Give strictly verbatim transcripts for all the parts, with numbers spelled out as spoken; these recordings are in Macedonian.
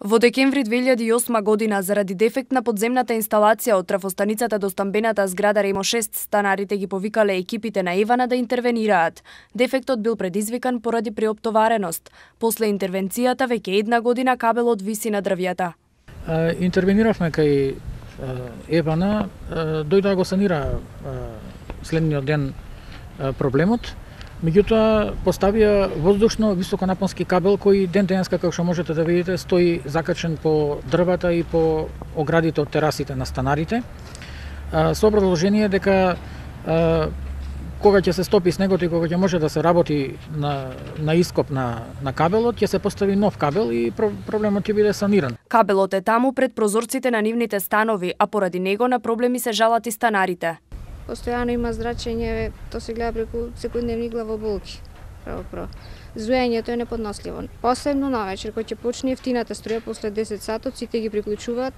Во декември две илјади и осма година, заради дефект на подземната инсталација од трафостаницата до стамбената зграда Ремо шест, станарите ги повикале екипите на Евана да интервенираат. Дефектот бил предизвикан поради преоптовареност. После интервенцијата, веќе една година кабелот виси на дрвјата. Интервениравме кај Евана, дојде да го санира следниот ден проблемот. Меѓутоа, поставија воздушно високонапонски кабел кој ден денеска, како што можете да видите, стои закачен по дрвата и по оградите од терасите на станарите. Со образложение дека кога ќе се стопи снегот и кога ќе може да се работи на, на ископ на, на кабелот, ќе се постави нов кабел и проблемот ќе биде саниран. Кабелот е таму пред прозорците на нивните станови, а поради него на проблеми се жалат и станарите. Постојано има зрачење, то се гледа преку секојдневни главоболки. Право, право. Зуењето е неподносливо. Посебно навечер, кој ќе почне ефтината струја после десет сатот, сите ги приклучуваат.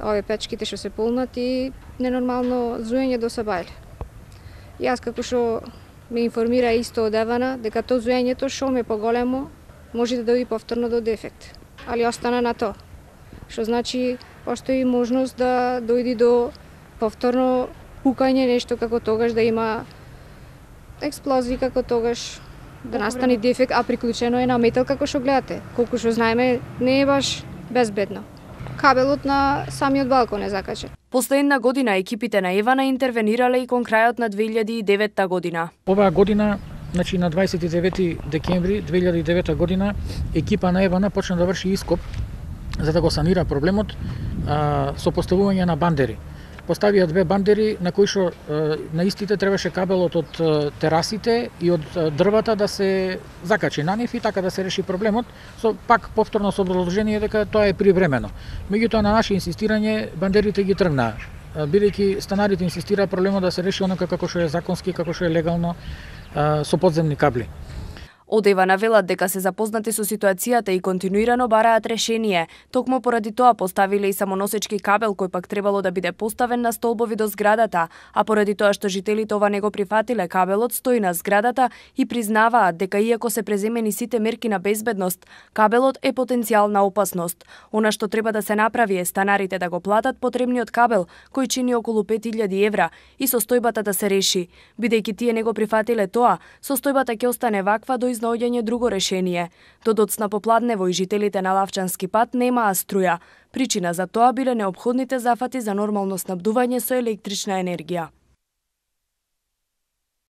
Овие печките што се полнат и ненормално зуење до сабајле. Јас како што ме информира исто од Евана, дека то зуењето шо ме поголемо, може да дојде повторно до дефект. Али остана на то. Што значи, постои можност да дојде до повторно пукање, нешто како тогаш да има експлозии, како тогаш да настане дефект, а приклучено е на метал како што гледате. Колку што знаеме, не е баш безбедно. Кабелот на самиот балкон е закачен. После една година екипите на Евана интервенирале и кон крајот на две илјади и девета година. Оваа година, значи на дваесет и девети декември две илјади и девета година, екипа на Евана почна да врши ископ за да го санира проблемот а, со поставување на бандери. Поставија две бандери на кои што на истите требаше кабелот од терасите и од дрвата да се закачи на нив и така да се реши проблемот, со пак повторно со образложение дека тоа е привремено. Меѓутоа на наше инсистирање бандерите ги тргнаа, бидејќи станарите инсистираа проблемот да се реши онака како што е законски, како што е легално со подземни кабли. Од Евана велат дека се запознати со ситуацијата и континуирано бараат решение. Токму поради тоа поставиле и самоносечки кабел кој пак требало да биде поставен на столбови до зградата, а поради тоа што жителите ова не го прифатиле, кабелот стои на зградата и признаваат дека иако се преземени сите мерки на безбедност, кабелот е потенцијална опасност. Она што треба да се направи е станарите да го платат потребниот кабел, кој чини околу пет илјади евра, и состојбата да се реши. Бидејќи тие не го прифатиле тоа, состојбата ќе остане ваква до наоѓање друго решение. До доцна попладнево и жителите на Лавчански пат немаа струја. Причина за тоа биле неопходните зафати за нормално снабдување со електрична енергија.